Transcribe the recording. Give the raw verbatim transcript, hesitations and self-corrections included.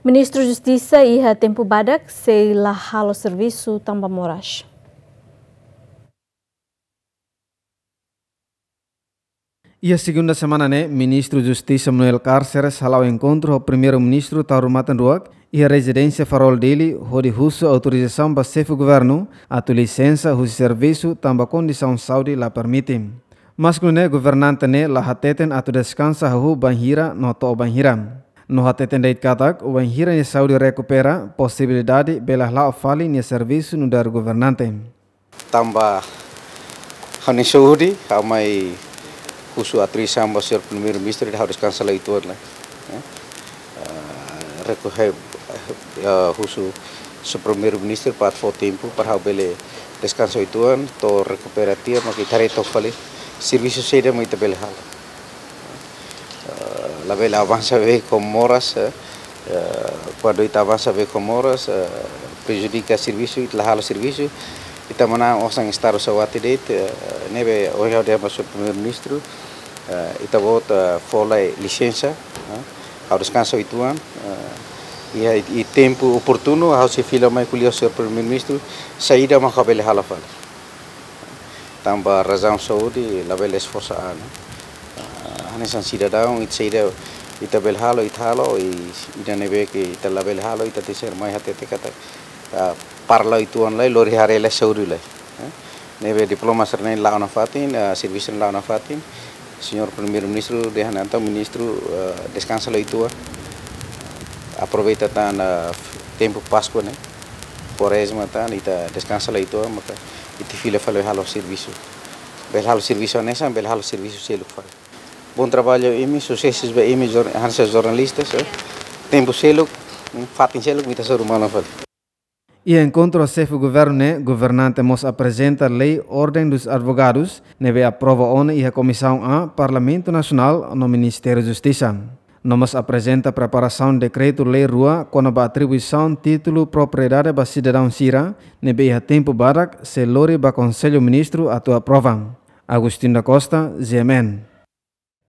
Ministru Justisa iha tempu badak sei la halo servisu tanba moras. Iha segunda semana ne'e, Ministru Justisa Manuel Cárceres hala'o enkontru ho Primeiru-Ministru Taur Matan Ruak iha rezidénsia Farol Dili, hodi husu autorizasaun ba xefe governu atu lisensa husi servisu tanba kondisaun saúde la permite. Maske nune'e, governante ne'e la hateten atu deskansa hahú bainhira no to'o bainhira. No hateten de'it katak, wainhira nia saúde rekupera, posibilidade bele hala'o fali nia servisu nu'udar governante. Tanba ha'u-nia saúde, ha'u mai husu autorizasaun ba señór Primeiru-Ministru, ha'u deskansa lai uitoan lai. Eh, eh, rekohe, eh, husu señór Primeiru-Ministru para fó tempu para ha'u bele deskansa uitoan, to'o rekupera tiha, mak ita haree took fali servisu saida mak ita bele halo. Eh, labele avansa beibeik ho moras, eh, eh, kuandu ita avansa beibeik ho moras, eh, prejudika servisu, ita la halo servisu, ita manán osan estadu saúde de'it, eh, ne'ebé ohin ha'u dehan ba señór Primeiru-Ministru, eh, ita-boot, eh, fó lai lisensa, eh, ha'u deskansa uitoan, eh, iha, iha tempu oportunu, ha'u sei fila mai ko'alia ho señór Primeiru-Ministru, saida mak ha'u bele halo fali. Tanba razaun saúde, labele esforsa an, no. Ah, hanesan sidadaun, ita saida ita bele halo, ita halo, i ida ne'ebé ke ita labele halo, ita tenke ser mai hatete katak, ah, para lai uitoan lai, lori haree lai saúde lai. Eh? Ne'ebé diploma sira-ne'e la'o nafatin, ah, servisu la'o nafatin. Señór Primeiru-Ministru dehan entaun ministru, eh, deskansa lai uitoan. Aproveita tan, eh, tempu Páskua ne'e, Kuarezma tan, ita deskansa lai uitoan, maka ita fila fali halo servisu. Bele halo servisu hanesan, bele halo servisu seluk fali. Bom trabalho imi, susesus ba imi, jor-, hanesan jornalistas, eh. Tempu seluk, mm, fatin seluk, ita hasoru malu fali. Iha enkontru ho xefe governu ne'e, governante mós aprezenta lei Ordem dos Advogados, ne'ebé aprova ona iha Komisaun A, Parlamentu Nasionál no Ministériu Justisa. No mós aprezenta preparasaun dekretu-lei rua kona-ba atribuisaun títulu propriedade ba sidadaun sira, ne'ebé iha tempu badak sei lori ba Konsellu Ministru atu aprova. Agostinho da Costa, G M N.